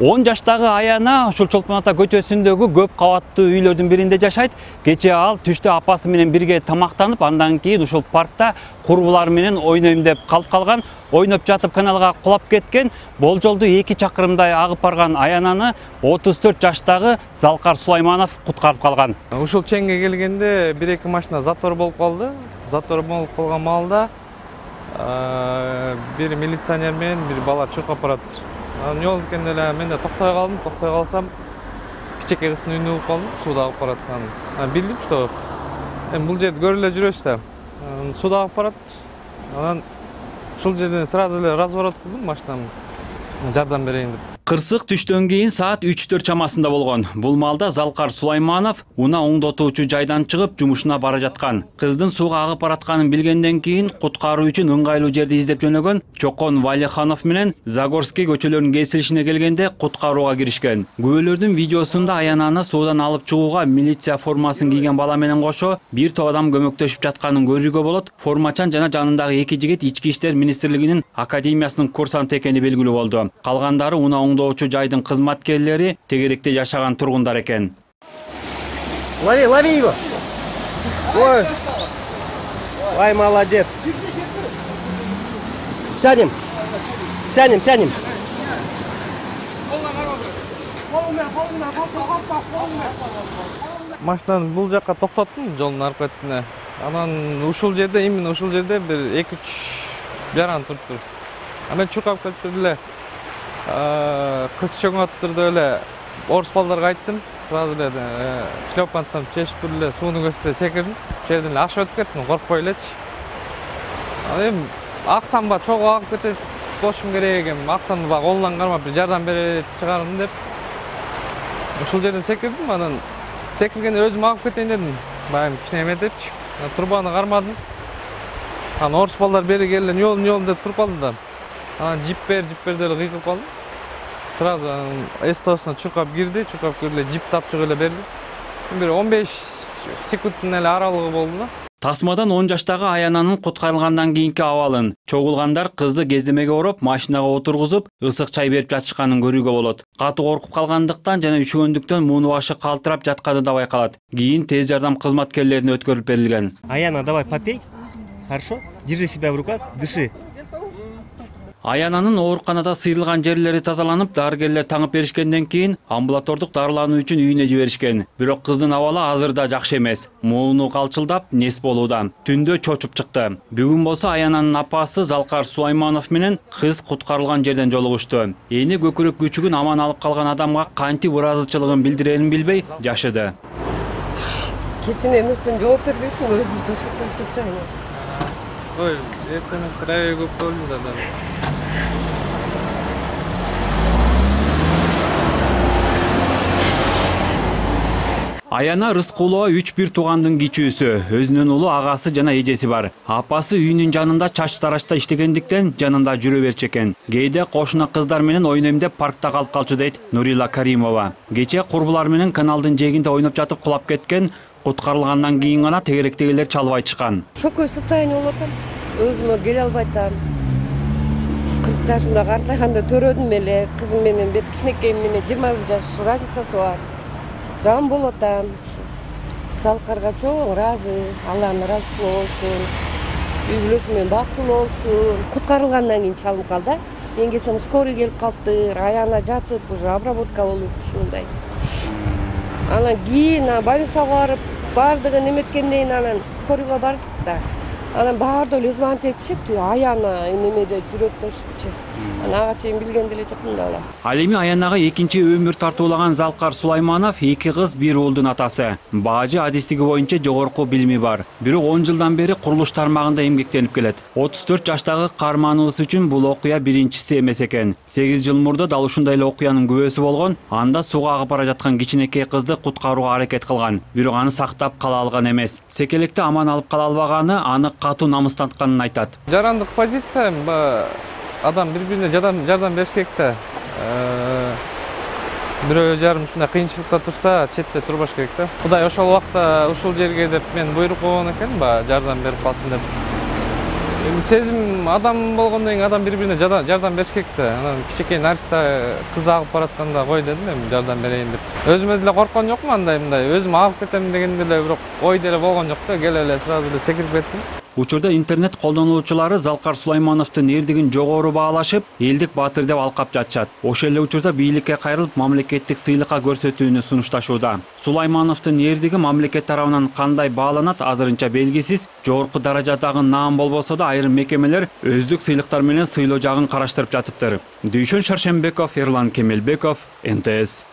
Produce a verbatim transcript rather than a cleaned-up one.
он жаштагы Аяна ушул Чолпон ата көчөсүндөгү көп кабаттуу үйлөрдүн биринде жашайт. Кечээ ал түштө апасы менен бирге тамактанып, андан кийин ушул паркта курбулары менен ойнойм деп калып калган. Ойноп жатып каналга кулап кеткен. Болжолду эки чакырымдай агып барган Аянаны отуз төрт жаштагы Залкар Сулайманов куткарып калган. Ушул чеңге келгенде бир-эки машина затор болуп калды. Затор болуп калган маалда бир милиционер менен бир бала чуркап барат. Жол өткөндө эле мен да токтой калдым. Токтой калсам, кичекей кыздын үйүнө угуп калдым. Сууда агып барат. Анан билдим, что эми бул жерде көрүп эле жүрөбүз да. Сууда агып барат. Анан ушул жерден сразу эле разворот кылдым машинамды. Жардам берейин деп. Кырсык түштөн кийин саат үч төрт чамасында болгон. Бул маалда Залкар Сулайманов унаа оңдотуучу жайдан чыгып жумушуна бара жаткан. Кыздын сууга агып баратканын билгенден кийин куткаруу үчүн ыңгайлуу жерди издеп жөнөгөн Чокон Валиханов менен Загорский көчөлөрүнүн кесилишине келгенде куткарууга киришкен. Күбөлөрдүн видеосунда Аянаны суудан алып чыгууга милиция формасын кийген бала менен кошо бир топ адам көмөктөшүп жатканын көрүүгө болот. Формачан жана жанындагы эки жигит Ички иштер министрлигинин академиясынын курсанты экени белгилүү болду. Калгандары унаа оңдоочу жайдын кызматкерлери, тегеректе жашаган тургундар экен. Лови, лови его. Ой. Ой, молодец. Тянем. Тянем, тянем. Машинаны бул жакка токтоттум, жолдун аркы бетине. Анан ушул жерде, именно ушул жерде бир эки үч жаран туруптур. Анан чуркап кетип эле кыз чоңоп турду эле орус балдарга айттым. Сразу эле шлепанцам чечип эле суунун көзүнө секирдим. Ошол жерден эле ашып өтүп кеттим, коркпой элечи. Анан эми аксамба чогуу агып кетет болушум керек экен. Аксамды баг колунан кармап бир жардам бере чыгарым деп. Ушул жерден секирдим, анан секиргенде өзүм агып кетейин дедим. Баягы кичине депчи. Турбаны кармадым. Анан орус балдар бери келди, "Нёл, нёл" деп туруп калды да. Анан жип бер, жип бер деп кыйкырып калдым. Сразу эстосуна чуркап кирди, чуркап кирип эле жип тапчык эле берди. Бир он беш секундтун эле аралыгы болду да. Тасмадан он жаштагы Аянанын куткарылгандан кийинки абалын чогулгандар кызды кездемеге ороп, машинага отургузуп, ысык чай берип жатышканын көрүүгө болот. Катуу коркуп калгандыктан жана üşөгөндүктөн муну башы калтырап жатканы да байкалат. Кийин тез жардам кызматкерлерине өткөрүлүп берилген. Аяна, давай попей. Хорошо? Держи себя в руках, дыши. Аянанын ооруканада сыйрылган жерлери тазаланып, дарыгерлер таңып беришкенден кийин амбулатордук дарылануу үчүн үйүнө жиберишкен. Бирок кыздын абалы азыр да жакшы эмес. Мууну калчылдап, нес болууда. Түндө чочуп чыкты. Бүгүн болсо Аянанын апасы Залкар Сулайманов менен кыз куткарылган жерден жолугушту. Эни көкүрөк күчүгүн аман алып калган адамга кантип ыраазычылыгын билдирерин билбей жашыды. Кечин эмесин жооп бербейсиңби өзүңдү ушундай состояние? Ой, эсемес траве көп болду да. Аяна Рыскулова үч бир туугандын кичүүсү, өзүнүн улу агасы жана эжеси бар. Апасы үйүнүн жанында чач тарашта иштегендиктен жанында жүрө берчү экен. Кээде кошуна кыздар менен ойнойм деп паркта калып калчу дейт Нурила Каримова. Кечээ курбулар менен каналдын жээгинде ойноп жатып кулап кеткен. Куткарылгандан кийин гана тегеректегилер чалып айтышкан. Шоковое состояние болуп атам. Өзүмө келе албай атам. кырк жашымда картайганда төрөдүм эле. Кызым менен бир кичинекейим менен жыйырма бир жаш разницасы бар. Жан болуп атам. Залкарга чоң ыраазы, Аллах ыраазы болсун. Үй бүлөсү менен бактылуу болсун. Куткарылгандан кийин чалынып калды. Мен келсем скорый келип калыптыр. Аяна жатып, уже обработка болуп ушундай. Анан кийин больницага барып, бардыгын эметкенден кийин анан скорыйга бардык да. Анан баардыгы эле звонок этишипти, Аяна немеде жүрөк ташыпчы. Анан ага чейин билген деле жокмун да ала. Ал эми Аянага экинчи өмүр тартуулаган Залкар Сулайманов эки кыз, бир уулдун атасы. Бажы адистиги боюнча жогорку билими бар. Бирок он жылдан бери курулуш тармагында эмгектенип келет. отуз төрт жаштагы каарманыбыз үчүн бул окуя биринчиси эмес экен. сегиз жыл мурда дал ушундай эле окуянын күбөсү болгон. Анда сууга агып бара жаткан кичинекей кызды куткарууга аракет кылган. Бирок аны сактап кала алган эмес. Секелекте аман алып кала албаганы аны катуу намыстантканын айтат. Жарандык позиция адам бири-бирине жардам жардам бериш керек да. Бирөө жарым ушундай кыйынчылыкта турса, четте турбаш керек да. Кудай ошол убакта ушул жерге деп мен буйрук болгон экен, ба жардам берип калсын деп. Эми сезим адам болгондон кийин адам бири бирине жардам бериш керек да. Анан кичинекей нарса кыз агып баратканда кой дедим эми жардам берейин деп. Өзүмө деле корккон жокмун андай мындай. Өзүм агып кетем деген деле бирок ой деле болгон жок да. Келе эле сразу эле секирип кеттим. Учурда интернет колдонуучулары Залкар Сулаймановдун эрдигин жогору баалашып, элдик баатыр деп алкап жатышат. Ошол эле учурда бийликке кайрылып, мамлекеттик сыйлыкка көрсөтүүнү сунушташууда. Сулаймановдун эрдиги мамлекет тарабынан кандай бааланат азырынча белгисиз. Жогорку даражадагы наам болбосо да айрым мекемелер өздүк сыйлыктар менен сыйлоо жагын караштырып жатыптыр. Дүйшөн Шаршембеков, Эрлан Кемелбеков, эн тэ эс.